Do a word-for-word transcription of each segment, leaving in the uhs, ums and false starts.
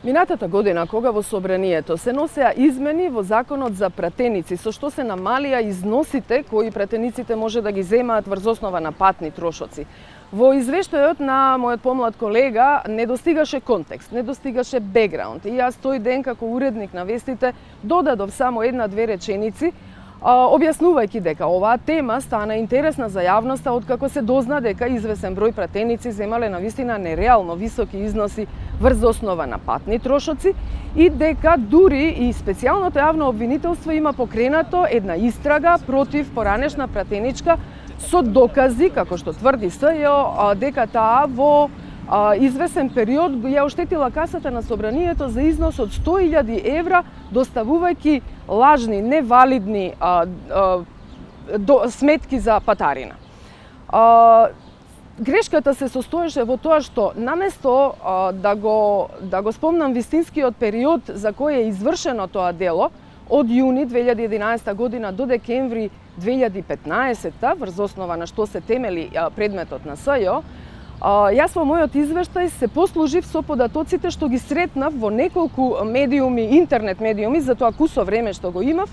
Минатата година, кога во Собранието се носеа измени во Законот за пратеници, со што се намалија износите кои пратениците може да ги земаат врз основа на патни трошоци. Во извештајот на мојот помлад колега не достигаше контекст, не достигаше бекграунд. И јас тој ден како уредник на вестите додадов само една-две реченици, објаснувајќи дека оваа тема стана интересна за јавноста откако се дозна дека извесен број пратеници земале навистина нереално високи износи врз основа на патни трошоци и дека дури и специјалното јавно обвинителство има покренато една истрага против поранешна пратеничка со докази, како што тврди СЈО, дека таа во извесен период ја оштетила касата на Собранието за износ од сто илјади евра, доставувајќи лажни, невалидни а, а, до, сметки за патарина. А, грешката се состоеше во тоа што наместо а, да го да го спомнам вистинскиот период за кој е извршено тоа дело од јуни две илјади и единаесета година до декември две илјади и петнаесета, врз основа на што се темели а, предметот на СЈО, јас во мојот извештај се послужив со податоците што ги сретнав во неколку медиуми, интернет медиуми, за тоа кусо време што го имав,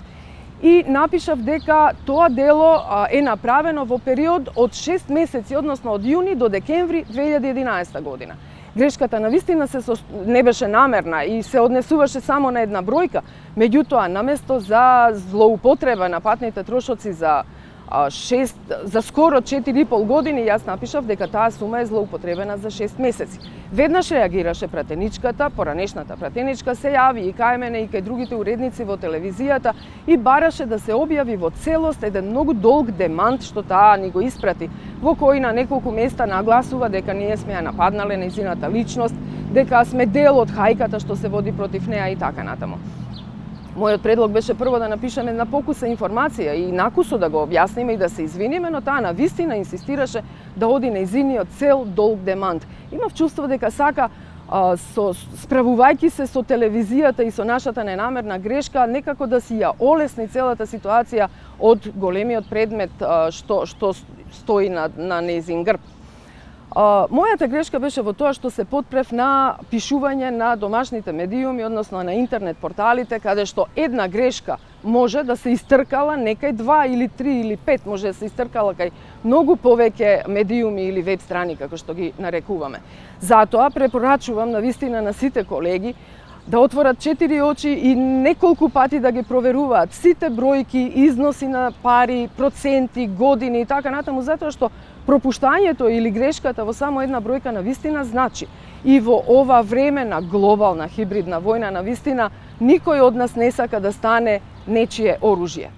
и напишав дека тоа дело е направено во период од шест месеци, односно од јуни до декември две илјади и единаесета година. Грешката навистина се со... не беше намерна и се однесуваше само на една бројка, меѓутоа наместо за злоупотреба на патните трошоци за шест, за скоро четири и пол години, јас напишав дека таа сума е злоупотребена за шест месеци. Веднаш реагираше пратеничката, поранешната пратеничка се јави и кај мене и кај другите уредници во телевизијата и бараше да се објави во целост еден многу долг демант што таа ни го испрати, во кој на неколку места нагласува дека ние сме ја нападнале нејзината личност, дека сме дел од хајката што се води против неа и така натаму. Мојот предлог беше прво да напишеме една покуса информација и накусо да го објасниме и да се извиниме, но таа навистина инсистираше да оди нејзиниот цел долг демант. Имав чувство дека сака, а, со, справувајќи се со телевизијата и со нашата ненамерна грешка, некако да си ја олесни целата ситуација од големиот предмет а, што, што стои на, на нејзин грб. Uh, мојата грешка беше во тоа што се потпрев на пишување на домашните медиуми, односно на интернет порталите, каде што една грешка може да се истркала некај два или три или пет, може да се истркала кај многу повеќе медиуми или веб страни, како што ги нарекуваме. Затоа препорачувам навистина на сите колеги да отворат четири очи и неколку пати да ги проверуваат сите бројки, износи на пари, проценти, години и така натаму, затоа што пропуштањето или грешката во само една бројка навистина значи. И во ова време на глобална хибридна војна навистина никој од нас не сака да стане нечие оружје.